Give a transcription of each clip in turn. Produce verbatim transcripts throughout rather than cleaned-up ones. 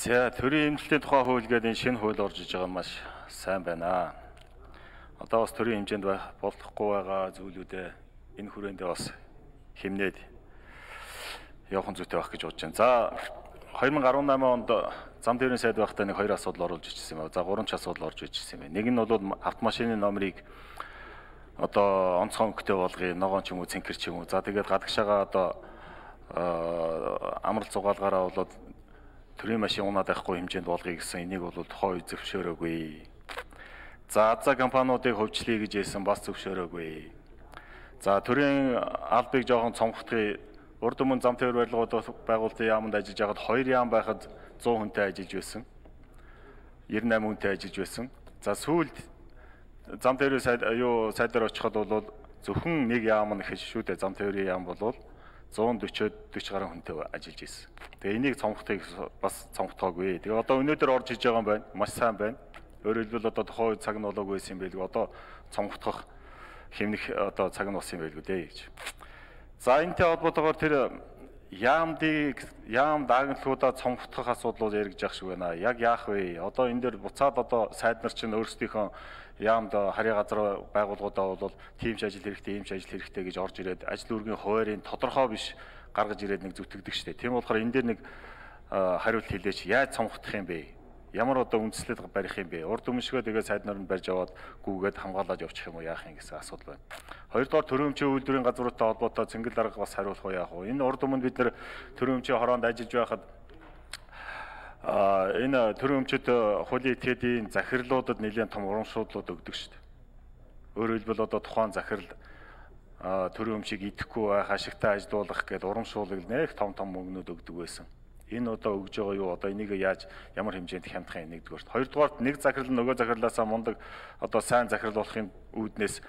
За төрийн эмнэлтийн тухай хууль гэдэг энэ шинэ хууль орж иж байгаа маш сайн байна. Одоо бас төрийн хэмжээнд болохгүй байгаа зүйлүүдээ энэ хүрээндээ бас хэмнээд явах зүйтэй байх гэж бодож байна. За хоёр мың арван намын онд зам тээврийн сайд байхдаа нэг хоёр асуудал оруулж ичсэн юм байна. За гурван ч асуудал орж ичсэн юм байна. Нэг нь бол автомашины номерыг одоо онцгой өнгөтэй болгоё, ногоон ч юм уу, цэнхэр ч юм уу. За тэгээд гадагшаага одоо амралт зугаалгаараа болоод төрийн машин унаад байхгүй хэмжээнд болгоё гэсэн энийг бол тухайн үе зөвшөөрөөгүй. За азаа компаниудыг хөвчлөе гэж хэлсэн бас зөвшөөрөөгүй. За төрийн албыг жоохон цомгохдохыг урд өмнө зам тээвэр барилгууд байгуулалтын яамд ажиллаж байгаад хоёр яам байхад зуун хүнтэй ажиллаж байсан. девяносто восемь хүнтэй ажиллаж байсан. За сүүлд зам тээврийн сайд юу сайдаар очиход бол зөвхөн нэг яам нь их шүү дээ. Зам тээврийн яам бол зуун дөрвөөд дөрвөн гаруй хүнтэй ажиллаж байсан. Тэгээ энийг цомгохыг бас цомгохоогүй. Тэгээ одоо өнөөдөр орж иж байгаа юм байна. Маш сайн байна. Өөрөөр хэлбэл одоо тухайн цаг нь болоогүй байсан юм байлгүй. Одоо цомгох хэмнэх одоо цаг нь болсон юм байлгүй дээ гэж. За энэтэй холбоотойгоор тэр яамдыг яам даагналуудаа цомгох асуудлууд яригдж ах шиг байна. Яг яах вэ? Одоо энэ дээр буцаад одоо сайд нар чинь өөрсдийнхөө яамд харьяа газар байгууллагуудаа бол тийм ч ажил хэрэгтэй, ийм ч ажил хэрэгтэй гэж орж ирээд ажил үргийн хуваарийн тодорхой биш гаргаж ирээд нэг зүтгэдэг штеп. Тийм болохоор энэ дээр нэг хариулт хэлээч. Яаж цомгох юм бэ? Ямар одоо үндслэл барих юм бэ? Урд өмнөшгөө тэгээ сайд нар нь барьж аваад гүгээд хамгаалаад явчих юм уу яах юм гэсэн асуудал байна. Хоёрдугаар төрийн өмчийн үйлдвэрийн газруудтай холбоотой цэнгэл дарга бас хариулах уу яах вэ? Энэ урд өмнө бид нар төрийн өмчийн хороонд ажиллаж байхад а энэ төрийн өмчөд хуулийн этгээдийн захирлуудад нэлээд том урамшууллууд өгдөг шүү дээ. Өөрөөр хэлбэл одоо тухайн захирал төрийн өмчийг идэхгүй байх, ашигтай ажилуулах гэдэг урамшуулал нэх том том мөнгнүүд өгдөг байсан. Энэ одоо өгж байгаа юу? Одоо энийг яаж ямар хэмжээнд хямдах юм нэгдүгээрт. Хоёрдугаарт нэг захирал нөгөө захирлаасаа мундаг одоо сайн захирал болохын үүднээс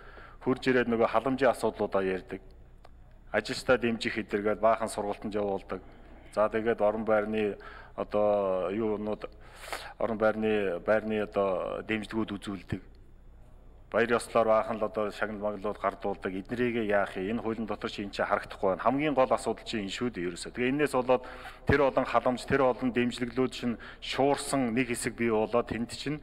хурж ирээд нөгөө халамжийн асуудлуудаа ярьдаг. Ажилчдаа дэмжих хэдэргээд баахан сургалтанд явуулдаг. За тэгээд орон байрны одоо юунууд орон байрны байрны одоо дэмжлэгүүд үзүүлдэг. Баяр ёслоор баахан л одоо шагнал маглууд гардуулдаг. Эднэрийг яах юм? Энэ хуулийн дотор чи энэ чинь харагдахгүй байна. Хамгийн гол асуудал чинь энэ шүү дээ ерөөсөө. Тэгээ энэс болоод тэр олон халамж, тэр олон дэмжлэглүүд чинь шуурсан нэг хэсэг бий болоод тэнд чинь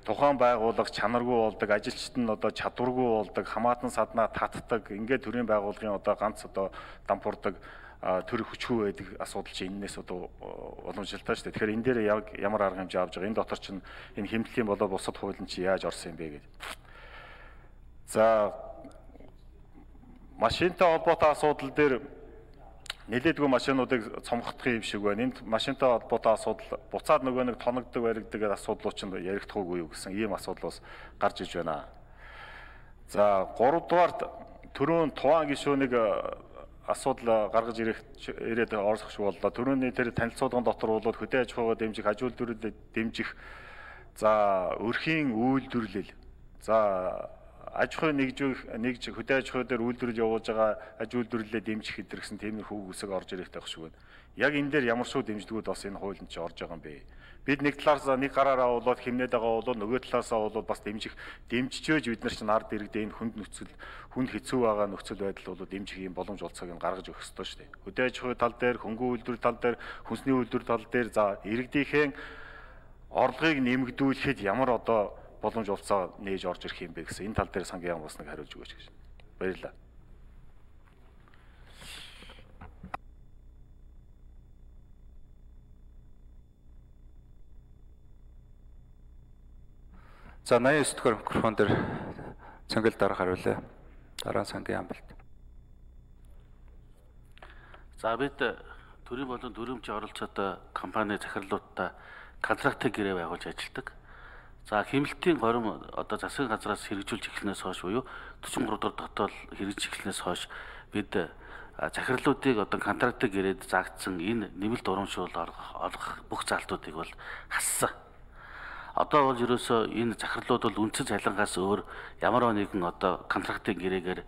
тухайн байгууллага чанаргүй болдог, ажилчид нь одоо чадваргүй болдог, хамаатан саднаа татдаг. Ингээд төрийн байгууллагын одоо ганц одоо дампуурдаг төр хүчгүй байдаг асуудал чинь энэс одоо уламжлалтай шүү дээ. Тэгэхээр энэ дээр яг ямар арга хэмжээ авч байгаа? Энэ дотор чинь энэ хэмнэлийн болоод бусад хуулийн чинь яаж орсон юм бэ гэж. За машинтай холбоотой асуудал дээр нэлээдгүй машинуудыг цомгохдох юм шиг байна. Энд машинтай холбоотой асуудал буцаад нөгөө нэг тоногддог баригдаг асуудлууд чинь ярихдаггүй юу гэсэн ийм асуудал бас гарч иж байна. За гуравдугаарт төрийн туваан гишүүнийг асуудал гаргаж ирээд орох шиг боллоо. Төрөний тэр танилцуулгын дотор бол хөдөө аж ахуйгаа дэмжих, аж үйлдвэрлэлд дэмжих, за өрхийн үйлдвэрлэл, за аж ахуй нэгжих нэгж хөдөө аж ахуй дээр үйлдвэрлэл явуулж байгаа аж үйлдвэрлэлээ дэмжих хэдэр гэсэн тиймэрхүү үгсэг орж ирэх байх шиг байна. Яг энэ дээр ямар шүү дэмжлэгүүд бас энэ хуулинд ч орж байгаа юм бэ? Бид нэг талаас нэг гараараа болоод хэмнээд байгаа бол нөгөө талаасаа бол бас дэмжих дэмжижөөж бид нар чинь ард иргэдээ энэ хүнд нөхцөл хүнд хэцүү байгаа нөхцөл байдал бол дэмжих юм боломж олцоог нь гаргаж өгөх ёстой шүү дээ. Хөдөө аж ахуй тал дээр, хөнгөн үйлдвэр тал дээр, хүнсний үйлдвэр тал дээр за иргэдийнхээ орлогыг нэмэгдүүлэхэд ямар одоо боломж олцоо нээж орж ирэх юм бэ гэсэн энэ тал дээр сангийн яам бас нэг хариулж өгөөч гэж. Баярлалаа. За восемьдесят девять дугаар микрофон дээр цэнгэл дарга хариулъя. Дараа сангийн амбалт. За бид төрийн болон төрөмчийн оролцоотой компани захирлуудтай контрактын гэрээ байгуулж ажилладаг. За хэмнэлтийн горим одоо засгийн газраас хэрэгжүүлж эхлэнээс хойш буюу forty-three дугаар дотоод хэрэгжиж эхлэнээс хойш бид захирлуудыг одоо контрактын гэрээд заагдсан энэ нэмэлт урамшуул олгох бүх залтуудыг бол хассан. Одоо бол ерөөсөө энэ захирлууд бол үндсэн цалингаас өөр ямар нэгэн одоо контрактын гэрээгээр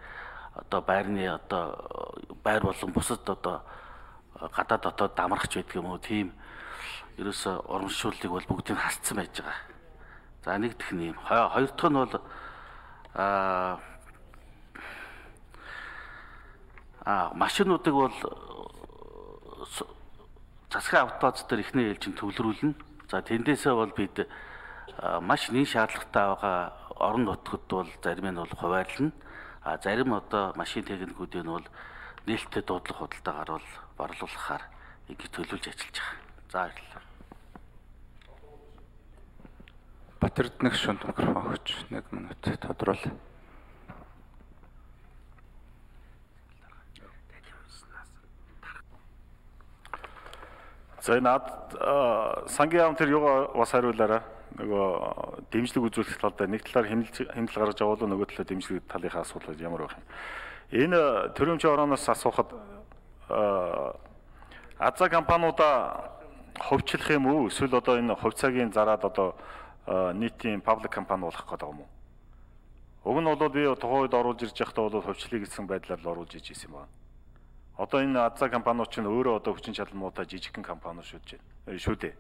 одоо байрны одоо байр болон бусад одоо гадаад дотоод дамрахч байдаг юм уу тийм ерөөсөө урамшууллыг бол бүгдийг хасцсан байж байгаа. За нэг дэх нь юм. Хоёр дахь нь бол аа А машинуудыг бол засгийн автоз дээр ихний ээлжинд төвлөрүүлнэ. За тэндээсээ бол бид маш нэн шаардлагатай байгаа орон нутгад бол зарим нь бол хуваарлна. А зарим одоо машин техникүүдийн бол нээлттэй дуудлага худалдаагаар бол борлуулахаар ингэ төлөвлөж ажиллаж байгаа. За баярлалаа. Батэрднэг шүнд микрофон өгч нэг минут тодорхойл. За над сангийн яам тэр юугаа бас хариулаарай. Нөгөө дэмжлэг үзүүлэх талдаа нэг талаар хэмнэл гаргаж авал нөгөө талаар дэмжлэг талынхаа асуудал ямар байх юм. Энэ төрөмчийн орооноос асуухад Аза компаниудаа ховчлох юм уу? Эсвэл одоо энэ хувьцаагийн зараад одоо нийтийн паблик компани болох гэдэг юм уу? Уг нь бол би тухайн үед оруулж ирж байхдаа бол хувьчлыг гэсэн байдлаар л оруулж иж ирсэн байна. Одоо энэ Аза компаниуд ч өөрөө одоо хүчин чадалмуудаа жижигхэн компаниуд шүүж байна. Шүү дээ.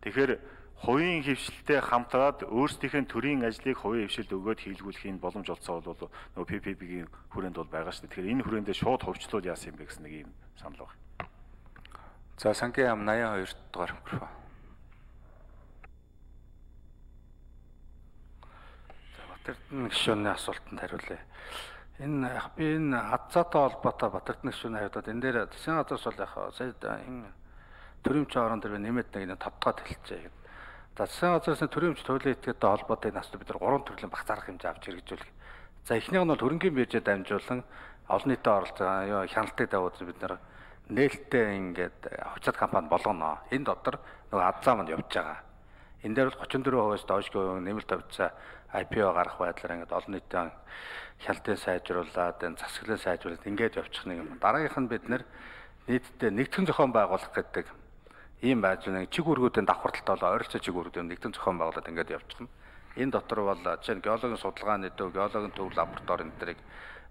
Тэгэхээр хувийн хвшилтэй хамтраад өөрсдийнхээ төрийн ажлыг хувийн хвшилд өгөөд хийлгүүлэхийн боломж олцоо бол нөгөө пи пи пи-ийн хүрээнд бол байгаа шүү дээ. Тэгэхээр энэ хүрээндээ шууд хувьчлууд яасан юм бэ гэсэн нэг юм санал байна. За сангийн яам восемьдесят two дугаар микрофон. За Батэрдэн гишүүний асуултанд хариулъя. Энэ яг би энэ Азаатай холбоотой Батэрдэн гишүүний хариултад энэ дээр засгийн газраас бол яг сая энэ төрөмчийн орон дээр нэмээд нэг тодтоод хэлчихье гэдэг. За засгийн газраас төрөмч туйлын этгээдтэй холбоотой энэ асуудал бид нар гурван төрлийн баг зарах хэмжээ авч хэрэгжүүлэх. За эхнийх нь бол хөрөнгөний биржээ дамжуулан олон нийтэд оролцоо хяналтыг давуулж бид нар нээлттэй ингээд хувьцаат компани болгоно. Энэ дотор нөгөө Азаа манд явж байгаа. Энэ дээр бол thirty-four percent-аас доош нэмэлт хувьцаа ай пи о гарах байдлаар ингээд олон нийтийн хяналтыг сайжруулад, энэ засаглалыг сайжруулад ингээд явчих нэг юм. Дараагийнх нь бид нэр нийтдээ нэгтгэн зохион байгуулах гэдэг ийм байж нэг чиг үүргүүдийн давхарталтай болоо ойролцоо чиг үүргүүдийн нэгтгэн зохион байгуулад ингээд явчих нь. Энэ дотор бол жишээ нь геологийн судалгааны төв, геологийн төв лаборатори энэ төрийг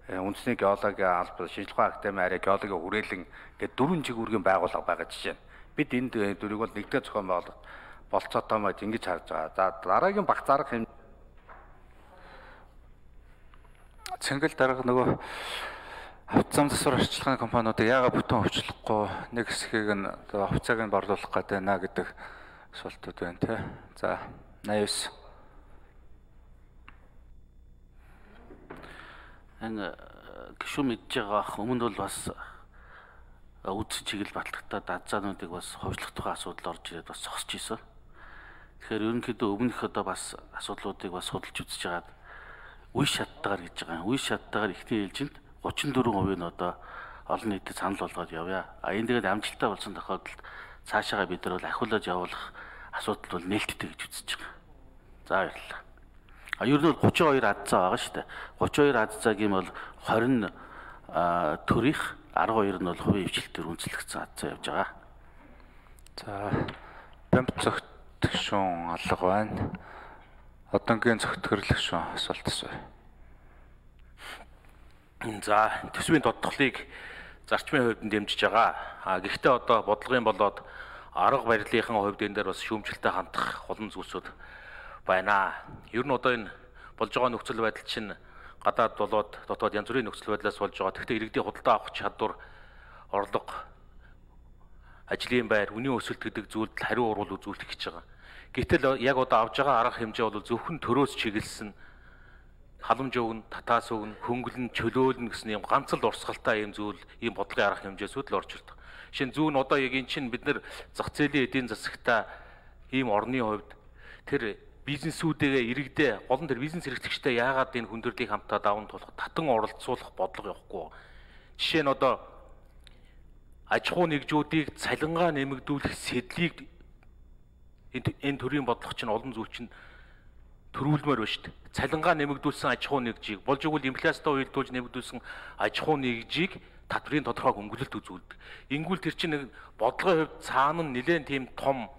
үндэсний геологийн албан, шинжилгээ академи арай геологийн хүрээлэн гэдэг дөрвөн чиг үүргийн байгууллага байгаа жишээ нь. Бид энэ дөрвийг бол нэгдээ зохион байгуулах болцоотой мод ингэж харж байгаа. За дараагийн баг зарах юм Цэнгэл дарга нөгөө хувьцаам засвар арчилгааны компаниудыг яагаад бүтэн хөвчлөхгүй нэг хэсгийг нь хувьцааг нь борлуулах гэдэг наа гэдэг асуултууд байна тий. За восемьдесят nine. Энэ гişүн мэдж байгаа өмнө бол бас үдс чиглэл батлагтаа Азаануудыг бас ховжлох тухай асуудал орж ирээд бас зогсож ийсэн. Тэгэхээр ерөнхийдөө өмнөх одоо бас асуудлуудыг бас судалж үзэж байгаад үе шаттайгаар гэж байгаа. Үе шаттайгаар ихний ээлжинд thirty-four percent нь одоо олон нийтэд санал болгоод явъя. А энэ тэгээд амжилттай болсон тохиолдолд цаашаага бид нар бол ахиулаад явуулах асуудал бол нээлттэй гэж үзэж байгаа. За баярлалаа. А ер нь бол thirty-two Азаа байгаа шүү дээ. thirty-two Азаагийн бол twenty төрийнх twelve нь бол хувийн хвшилтээр үндэслэгдсэн Азаа явж байгаа. За бямб цогт гишүүн алга байна. Одонгийн цогт гэрлэгшүүн асуулт асууя. За төсвийн тодтголыг зарчмын хувьд дэмжиж байгаа. А гэхдээ одоо бодлогын болоод арга барилынхаа хувьд энэ дээр бас шүүмжлэлтэй хандах олон зүйлсүүд байна. Ер нь одоо энэ болж байгаа нөхцөл байдал чинь гадаад болоод дотоод янз бүрийн нөхцөл байдлаас болж байгаа. Гэхдээ иргэдийн худалдаа авах чадвар, орлого, ажлын байр, үнийн өсөлт гэдэг зүйлд хариу урвал үзүүлэх гэж байгаа. Гэтэл яг одоо авж байгаа арга хэмжээ бол зөвхөн төрөөс чиглэсэн халамж өгнө, татаас өгнө, хөнгөлн, чөлөөлнө гэсэн юм ганц л урсгалтай юм зүйл, ийм бодлогын арга хэмжээсүүд л орж ирдэг. Жишээ нь зүүн одоо яг эн чинь бид нар зах зээлийн эдийн засагта ийм орны хувьд тэр бизнесүүдээ иргэдээ гол нь тэр бизнес эрхлэгчтэй яагаад энэ хүндрэлийг хамтаа даван туулах, татан оролцуулах бодлого явахгүй. Жишээ нь одоо аж ахуй нэгжүүдийг цалингаа нэмэгдүүлэх сэдлийг энэ төрлийн бодлого чинь олон зүйл чинь төрүүлмээр байна шүү дээ. Цалингаа нэмэгдүүлсэн аж ахуй нэгжийг болж игэл инфляцтай уялдуулж нэмэгдүүлсэн аж ахуй нэгжийг татврын тодорхой хөнгөлөлт үзүүлдэг. Ингүүл тэр чинь нэг бодлогын хувьд цаана нь нэлээд тийм том